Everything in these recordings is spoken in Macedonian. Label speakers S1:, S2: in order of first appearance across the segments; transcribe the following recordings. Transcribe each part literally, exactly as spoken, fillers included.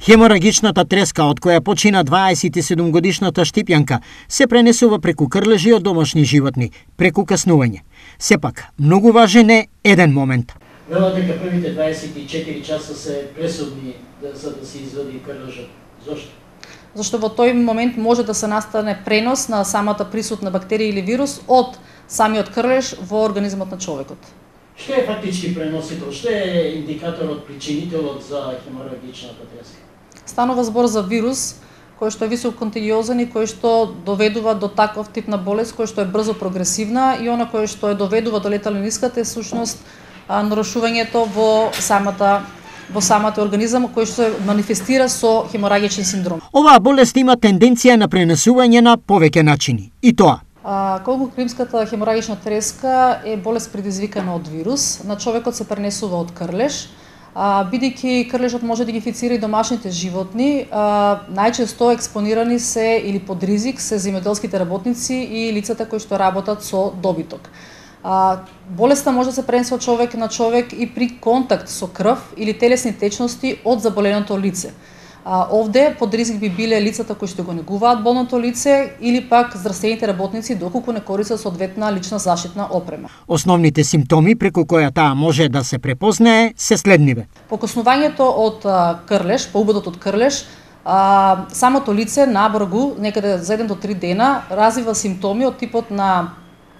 S1: Хеморагичната треска од која почина дваесет и седум годишната Штипјанка се пренесува преку крлежи од домашни животни, преку каснување. Сепак, многу важен е еден момент.
S2: Велат дека првите дваесет и четири часа се пресудни за да се извади крлежот. Зошто?
S3: Зашто во тој момент може да се настане пренос на самата присутна бактерија или вирус од самиот крлеж во организмот на човекот.
S2: Што е фактички преносител? Што е индикаторот, причинителот за хеморагичната треска?
S3: Станува збор за вирус кој што е висококонтагиозен и кој што доведува до таков тип на болест кој што е брзо прогресивна и она кој што е доведува до летален исход е сушност нарушувањето во самата во самата организам кој што се манифестира со хеморагичен синдром.
S1: Оваа болест има тенденција на пренесување на повеќе начини. И тоа
S3: А, колгокримската хеморагична треска е болест предизвикана од вирус. На човекот се пренесува од крлеж. А, бидејќи крлежот може да ги инфицира и домашните животни, а, најчесто експонирани се или под ризик се земјоделските работници и лицата кои што работат со добиток. А, болеста може да се пренесе од човек на човек и при контакт со крв или телесни течности од заболеното лице. А, овде под ризик би биле лицата кои што го негуваат болното лице или пак здравствените работници доколку не користат соодветна лична заштитна опрема.
S1: Основните симптоми преку која таа може да се препознае се следниве.
S3: Покоснувањето од а, крлеж, по убодот од крлеж, а, самото лице набргу некаде за еден до три дена развива симптоми од типот на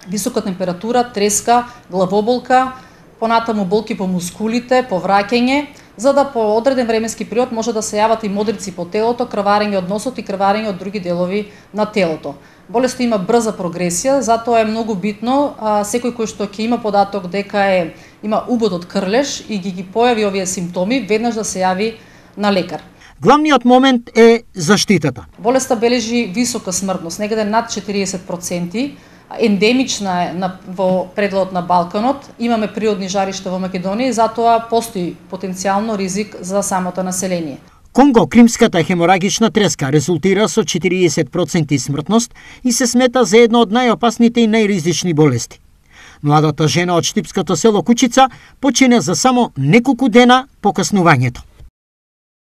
S3: висока температура, треска, главоболка, понатаму болки по мускулите, повраќање, за да по одреден временски период може да се јават и модрици по телото, крварење од носот и крварење од други делови на телото. Болеста има брза прогресија, затоа е многу битно а, секој кој што ќе има податок дека е има убод од крлеж и ги ги појави овие симптоми, веднаш да се јави на лекар.
S1: Главниот момент е заштитата.
S3: Болеста бележи висока смртност, некаде над четириесет проценти, ендемична е на, во пределот на Балканот, имаме природни жаришта во Македонија и затоа постои потенцијално ризик за самото население.
S1: Конго-кримската хеморагична треска резултира со четириесет проценти смртност и се смета за една од најопасните и најризични болести. Младата жена од штипското село Кучица почина за само неколку дена по каснувањето.